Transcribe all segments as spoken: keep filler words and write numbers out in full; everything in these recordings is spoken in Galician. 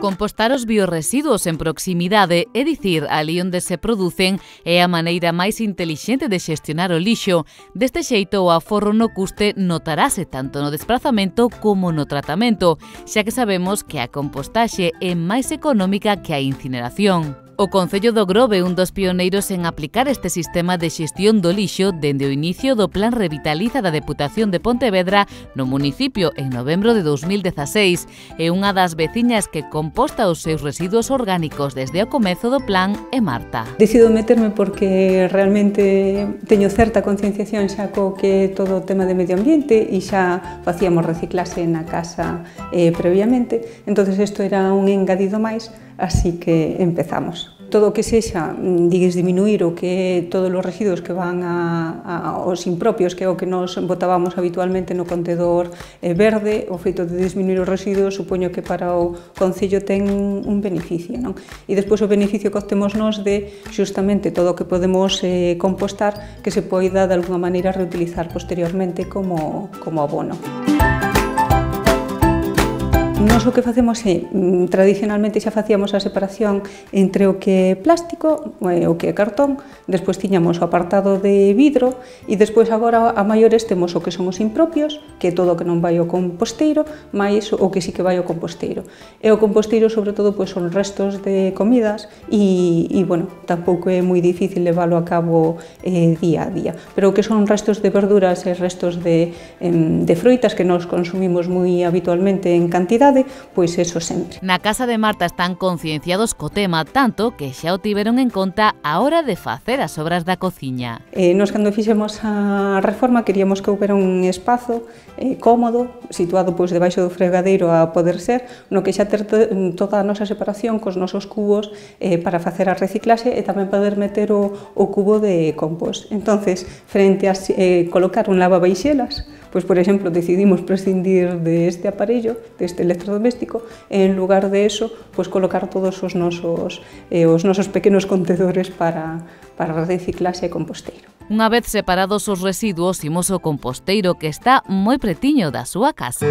Compostar os biorresiduos en proximidade, é dicir, ali onde se producen, é a maneira máis intelixente de xestionar o lixo. Deste xeito, o aforro no custe notarase tanto no desprazamento como no tratamento, xa que sabemos que a compostaxe é máis económica que a incineración. O Concello do Grove é un dos pioneiros en aplicar este sistema de xestión do lixo dende o inicio do Plan Revitaliza da Deputación de Pontevedra no municipio en novembro de dous mil dezaseis. É unha das veciñas que composta os seus residuos orgánicos desde o comezo do plan é Marta. Decido meterme porque realmente teño certa concienciación xa co que todo o tema de medio ambiente e xa facíamos reciclase na casa eh, previamente, entonces isto era un engadido máis. Así que empezamos. Todo o que sexa, digues, diminuir o que todos os residuos que van a, a, aos impropios, que é o que nos botábamos habitualmente no contedor eh, verde, o feito de disminuir os residuos, supoño que para o Concello ten un beneficio, non? E despois o beneficio que obtemos nós de xustamente todo o que podemos eh, compostar que se poida de alguna maneira reutilizar posteriormente como, como abono. Nos o que facemos é, tradicionalmente xa facíamos a separación entre o que é plástico e o que é cartón, despois tiñamos o apartado de vidro e despois agora a maiores temos o que son os impropios, que é todo o que non vai ao composteiro, máis o que sí que vai ao composteiro. E o composteiro, sobre todo, pois, son restos de comidas e, e bueno, tampouco é moi difícil leválo a cabo eh, día a día. Pero o que son restos de verduras e restos de, eh, de froitas que nos consumimos moi habitualmente en cantidade, pois eso sempre. Na casa de Marta están concienciados co tema, tanto que xa o tiveron en conta a hora de facer as obras da cociña. Eh, nos, cando fixemos a reforma, queríamos que houbera un espazo eh, cómodo, situado pois debaixo do fregadeiro a poder ser, no que xa ter toda a nosa separación cos nosos cubos eh, para facer a reciclaxe e tamén poder meter o, o cubo de compost. Entonces, frente a eh, colocar un lavabaixelas, pois, por exemplo, decidimos prescindir deste aparello, deste electrodoméstico, e en lugar de eso, pois, colocar todos os nosos, eh, os nosos pequenos contedores para, para reciclaxe e composteiro. Unha vez separados os residuos, imos ao composteiro que está moi pretiño da súa casa.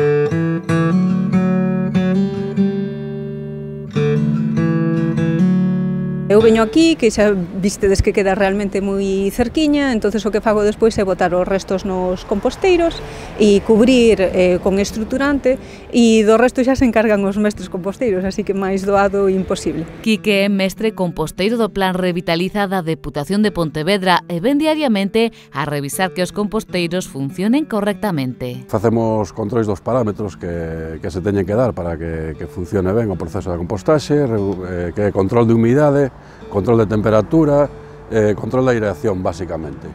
Eu veño aquí, que xa vistedes que queda realmente moi cerquiña, entonces o que fago despois é botar os restos nos composteiros e cubrir eh, con estruturante, e do resto xa se encargan os mestres composteiros, así que máis doado imposible. Quique é mestre composteiro do Plan Revitaliza da Deputación de Pontevedra e ven diariamente a revisar que os composteiros funcionen correctamente. Facemos controis dos parámetros que, que se teñen que dar para que, que funcione ben o proceso de compostaxe, eh, que é control de humidade, control de temperatura, eh, control da aireación, basicamente.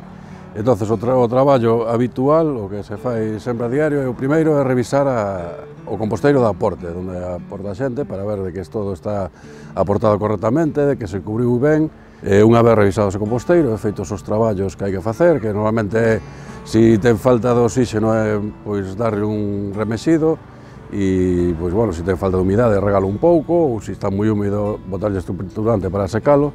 Entón, o, tra o traballo habitual, o que se fai sempre a diario, é o primeiro é revisar a, o composteiro da aporte, onde aporta a xente, para ver de que todo está aportado correctamente, de que se cubriu ben. E unha vez revisado ese composteiro, e feitos os traballos que hai que facer, que normalmente é, se ten falta de oxígeno, é pois darlle un remexido, e, pois, bueno, se ten falta de humidade, regalo un pouco, ou se está moi húmido, botarlle estruturante para secalo.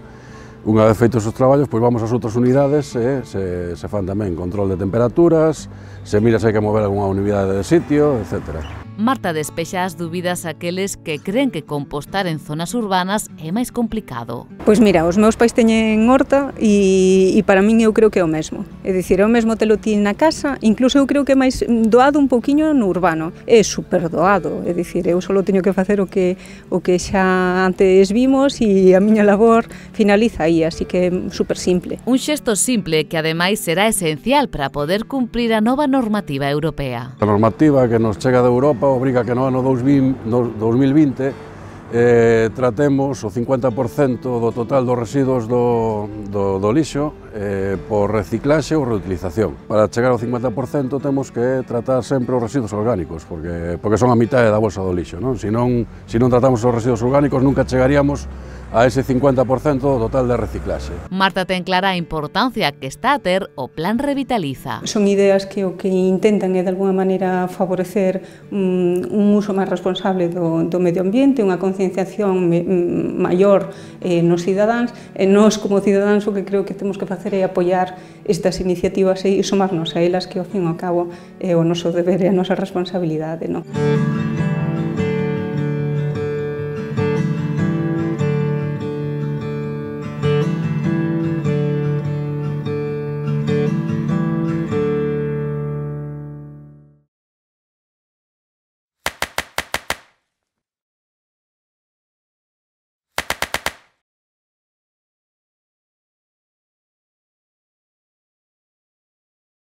Unha vez feitos os traballos, pois vamos ás outras unidades e se, se fan tamén control de temperaturas, se mira se hai que mover algunha unidade de sitio, etcétera. Marta despexa as dúbidas aqueles que creen que compostar en zonas urbanas é máis complicado. Pois mira, os meus pais teñen horta e, e para min eu creo que é o mesmo. É dicir, é o mesmo telo ti na casa, incluso eu creo que é máis doado un poquinho no urbano. É super doado, é dicir, eu só teño que facer o que, o que xa antes vimos e a miña labor finaliza aí, así que é super simple. Un xesto simple que ademais será esencial para poder cumprir a nova normativa europea. A normativa que nos chega de Europa obriga que no ano dous mil vinte eh, tratemos o cincuenta por cento do total dos residuos do, do, do lixo eh, por reciclaxe ou reutilización. Para chegar ao cincuenta por cento temos que tratar sempre os residuos orgánicos, porque, porque son a mitad da bolsa do lixo, non? Se non, se non tratamos os residuos orgánicos nunca chegaríamos a ese cincuenta por cento do total de reciclaxe. Marta ten clara a importancia que está a ter o Plan Revitaliza. Son ideas que o que intentan é de alguna maneira favorecer um, un uso máis responsable do, do medio ambiente, unha concienciación maior eh, nos cidadáns, e nós como cidadáns o que creo que temos que facer é apoiar estas iniciativas e sumarnos a elas, que ao fin e ao cabo é o noso deber e a nosa responsabilidade, non?